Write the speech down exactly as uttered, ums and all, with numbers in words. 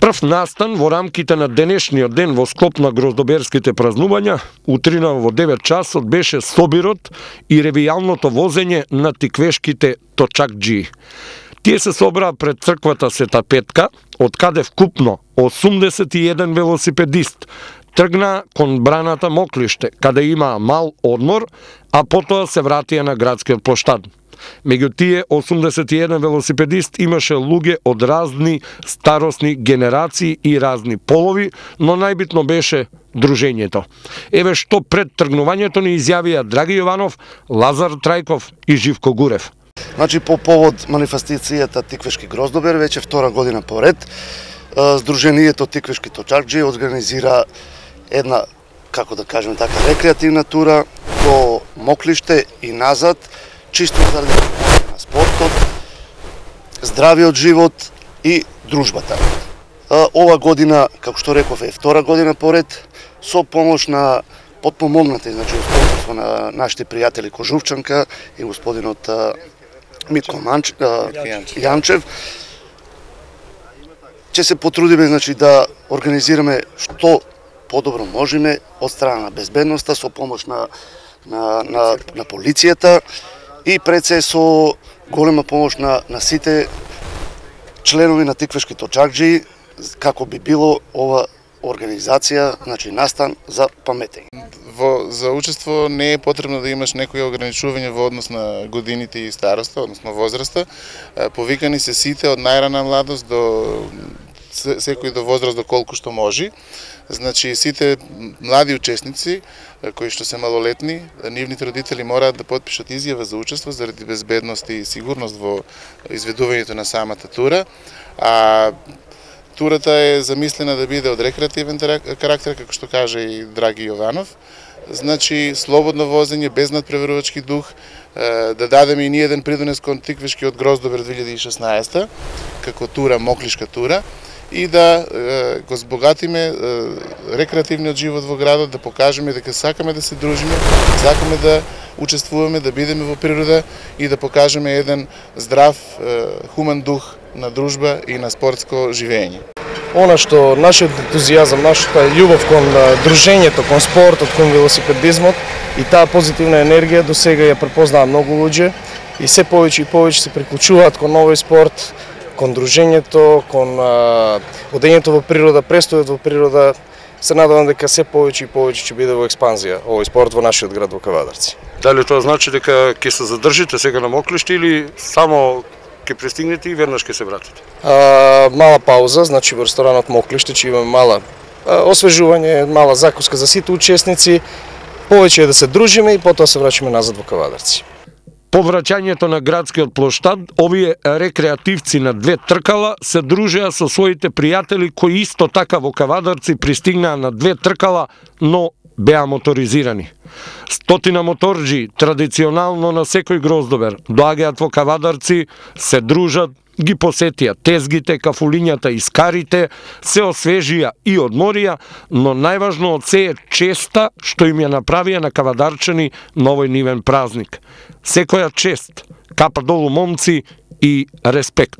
Прв настан во рамките на денешниот ден во склоп на гроздоберските празнувања, утрина во девет часот беше собирот и ревијалното возење на тиквешките точакџии. Тие се собраа пред црквата Света Петка, од каде вкупно осумдесет и еден велосипедист тргна кон браната Моклиште, каде имаа мал одмор, а потоа се вратија на градскиот плоштад. Меѓу тие осумдесет и еден велосипедист имаше луѓе од разни старосни генерации и разни полови, но најбитно беше дружењето. Еве што пред тргнувањето ни изјавија Драги Јованов, Лазар Трајков и Живко Гурев. Значи, по повод манифестацијата Тиквешки Гроздобер, веќе втора година поред, Сдруженијето Тиквешки точакџии организира една, како да кажем така, рекреативна тура до Моклиште и назад, чисто заради на спортот, здравиот живот и дружбата. Ова година, како што реков, е втора година поред, со помош на подпомогнати, значи, спонсорство на нашите пријатели Кожувчанка и господинот Митко Манч, Јанчев, ќе се потрудиме, значи, да организираме што подобро можеме од страна на безбедноста, со помош на, на, на, на полицијата и пред се со голема помош на, на сите членови на Тиквешки точакџии, како би било ова организација, значи настан за паметење. Во, за учество не е потребно да имаш некои ограничување во однос на годините и староста, односно возраста. Повикани се сите од најрана младост до секој до возраст до колку што може. Значи, сите млади учесници, кои што се малолетни, нивните родители мораат да потпишат изјава за учество заради безбедност и сигурност во изведувањето на самата тура. А турата е замислена да биде од рекреативен карактер, како што каже и Драги Јованов. Значи, слободно возење, без надпреварувачки дух, да дадеме и ние еден придонес кон Тиквешкиот Гроздобер две илјади и шеснаесета, како тура, моклишка тура, и да го збогатиме рекреативниот живот во градот, да покажеме дека сакаме да се дружиме, сакаме да учествуваме, да бидеме во природа и да покажеме еден здрав, хуман дух на дружба и на спортско живење. Она што нашиот ентузијазам, нашата љубов кон дружењето, кон спортот, кон велосипедизмот и таа позитивна енергија до сега ја препознаа многу луѓе и се повеќе и повеќе се приклучуваат кон овој спорт, кон дружењето, кон одењето во природа, престојот во природа. Се надевам дека се повеќе и повеќе ќе биде во експанзија овој спорт во нашиот град во Кавадарци. Дали тоа значи дека ќе се задржите сега на Моклиште или само ќе пристигнете и веднаш ќе се вратите? А, мала пауза, значи во ресторанот Моклиште ќе имаме мала а, освежување, мала закуска за сите учесници, повеќе е да се дружиме и потоа се враќаме назад во Кавадарци. По враќањето на градскиот плоштад, овие рекреативци на две тркала се дружеа со своите пријатели кои исто така во Кавадарци пристигнаа на две тркала, но беа моторизирани. Стотина моторџи традиционално на секој Гроздобер доаѓаат во Кавадарци, се дружат, ги посетија тезгите, кафулињата и скарите, се освежија и одморија, но најважно од се е честа што им ја направија на кавадарчани на овој нивен празник. Секоја чест, капа долу момци и респект.